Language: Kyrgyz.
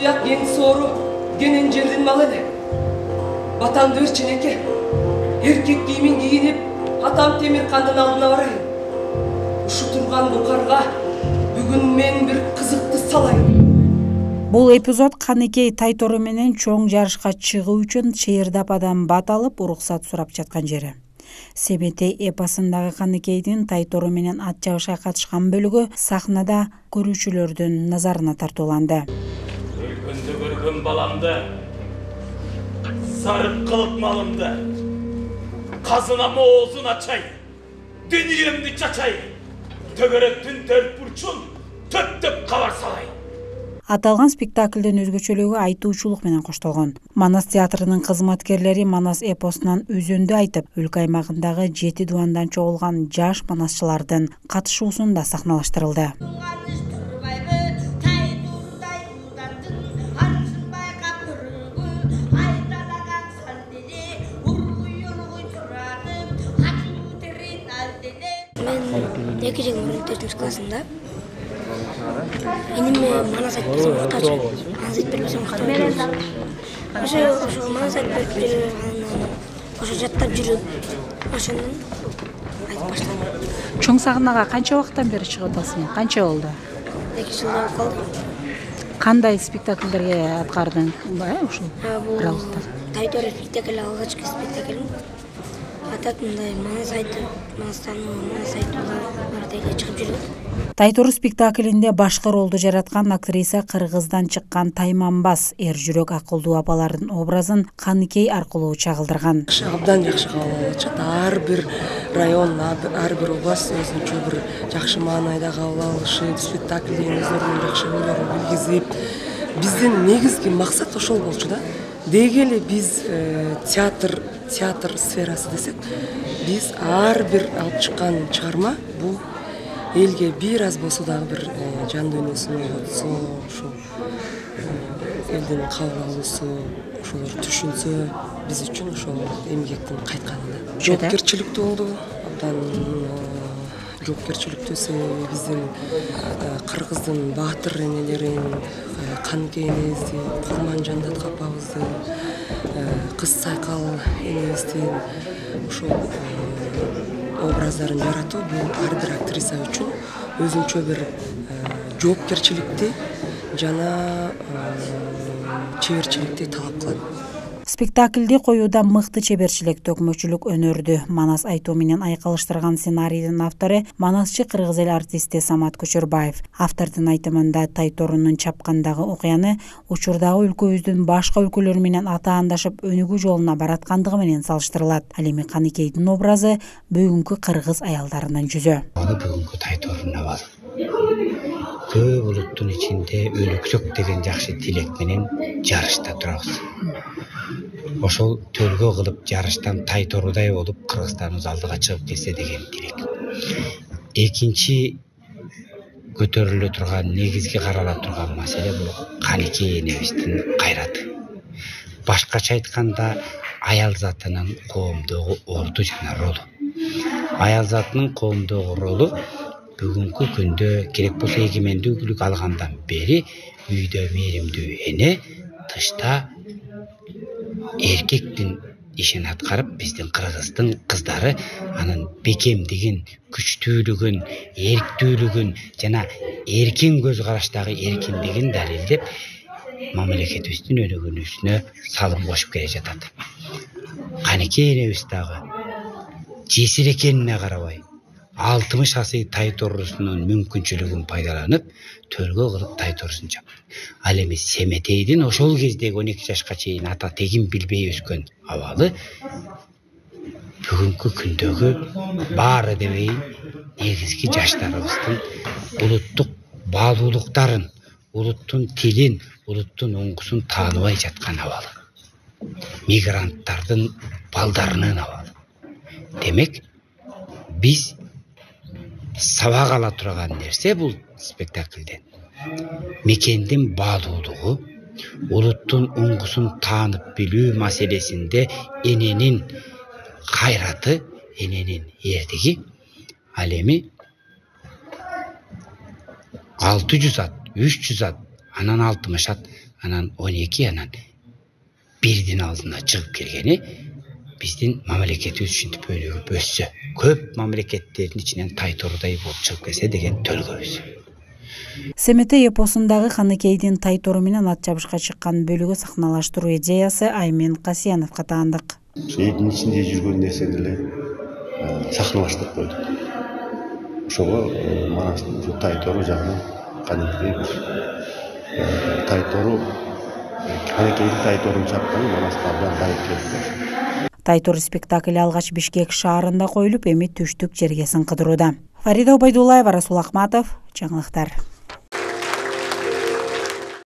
Буяк кен соору кенен жердин малы эле. Батамды берчи эке. Эркек кийимин кийинип, атам Темиркандын алдына барайын. Ушу турган букарга бүгүн мен бир кызыкты салайын. Бул эпизод Каныкей Тайтору менен чоң жарышка чыгуу үчүн Чыйырдападан бат алып уруксат сурап жаткан жери. Семетей эпосундагы Каныкейдин Тайтору менен ат чабышка катышкан бөлүгү сахнада көрүүчүлөрдүн назарына тартууланды. Өлкөндө көргөн баламды, сарып кылып малымды, казынам оозун ачай, дүниемди чачай, төгөрөктүн төрт бурчун төптөп кабар салай. Аталган спектаклдин өзгөчөлүгү айтуучулук менен коштолгон. Манас театрынын кызматкерлери Манас эпосунан өзөндү айтып, өлкө аймагындагы 7 дубандан чогулган жаш манасчылардын катышуусунда сахналаштырылды. Мен 2-4 классында эниме манас айтып берсем уктачу. Манас айтып берсем уктачу. Ошо манас айтып берип ошо жаттап жүрүп, ошондон айтып баштадым. Чоң сахнага канча убакыттан бери чыгып атасың? Канча болду? 2 жылда болуп калды. Кандай спектакльдерге аткардың? Ушул аралыкта. Тайтору спектакли алгачкы спектаклим. Атат мындай манас айтып, манас айтып чыгып жүрөт. Тайтору спектаклинде башкы ролду жараткан актриса Кыргыздан чыккан Тайманбас эр жүрөк акылдуу апалардын образын Каныкей аркылуу чагылдырган. Абдан жакшы кабыл алышат. Ар бир район, ар бир область өзүнчө бир жакшы маанайда кабыл алышып, спектаклдин өздөрүнүн жакшы ойлорун билгизип, биздин негизги максат ошол болчу да. Деги эле биз театр сферасы десек, биз ар бир алып чыккан чыгарма бул элге бир аз болсо дагы бир жан дүйнөсүн ойлотсо, ошо элдин кабыл алуусу, ошолор түшүнсө, биз үчүн ошол эмгектин кайтканы. Жоопкерчиликтүү болду, абдан жоопкерчиликтүү себеби биздин Кыргыздын баатыр энелерин, Каныкей энебизди, Курманжандат апабызды, Кыз Сайкал энебиздин ошол образдарын жаратуу бул ар бир актриса үчүн өзүнчө бир жоопкерчиликти жана чеберчиликти талап кылат. Спектаклди коюуда мыкты чеберчилик, төкмөчүлүк өнөрдү Манас айтуу менен айкалыштырган сценарийдин автору манасчы кыргыз эл артисти Самат Көчөрбаев. Автордун айтымында Тайторунун чапкандагы окуяны учурдагы өлкөбүздүн башка өлкөлөр менен атаандашып өнүгүү жолуна бараткандыгы менен салыштырылат. Ал эми Каныкейдин образы бүгүнкү кыргыз аялдарынын жүзү. Бүгүнкү Тайторунун абалы. Көп улуттун ичинде өлүксөк деген жакшы тилек менен жарышта турабыз. Ошол төлгө кылып жарыштан Тайторудай болуп Кыргызстаныбыз алдыга чыгып келсе деген тилек. Экинчи көтөрүлө турган, негизги карала турган маселе бул Каныкей энебиздин кайраты. Башкача айтканда, аял затынын коомдогу орду жана ролу. Аял затынын коомдогу ролу бүгүнкү күндө керек болсо эгемендүүлүк алгандан бери үйдө мээримдүү эне, тышта эркектин ишин аткарып, биздин Кыргыздын кыздары анын бекемдигин, күчтүүлүгүн, эрктүүлүгүн жана эркин көз караштагы эркиндигин далилдеп, мамлекетибиздин өнүгүүсүнө салым кошуп келе жатат. Каныкей энебиз дагы жесир экенине карабай, 60 асый Тайторусунун мүмкүнчүлүгүн пайдаланып, төлгө кылып Тайторусун чапты. Ал эми Семетейдин ошол кездеги 12 жашка чейин ата тегин билбей өскөн абалы бүгүнкү күндөгү баары дебейин негизги жаштарыбыздын улуттук баалуулуктарын, улуттун тилин, улуттун оңгусун тааныбай жаткан абалы. Мигранттардын балдарынын абалы. Демек, биз сабак ала турган нерсе бул спектакльден. Мекендин баалуулугу, улуттун оңгусун таанып билүү маселесинде эненин кайраты, эненин эрдиги. Ал эми 600 ат, 300 ат, анан 60 ат анан 12 анан бирдин алдына чыгып келгени биздин мамлекетибиз ушинтип өнүгүп өссө, көп мамлекеттердин ичинен Тайторудай болуп чыгып келсе деген төлгөбүз. СМТ эпосундагы Каныкейдин Тайтору менен ат чабышка чыккан бөлүгү сахналаштыруу идеясы Аймен Касияновго таандык. Элдин ичинде жүргөн нерсени эле сахналаштырып койдук. Ошого Манастын Тайтору жагынан кадимкидей бир Тайтору Каныкейдин Тайторун чапкан Манаска абдан байып келди. Тайтору спектакли алгач Бишкек шаарында коюлуп, эми түштүк жерге сыңкыдырууда. Фарида Убайдуллаева, Расул Ахматов, жаңылыктар.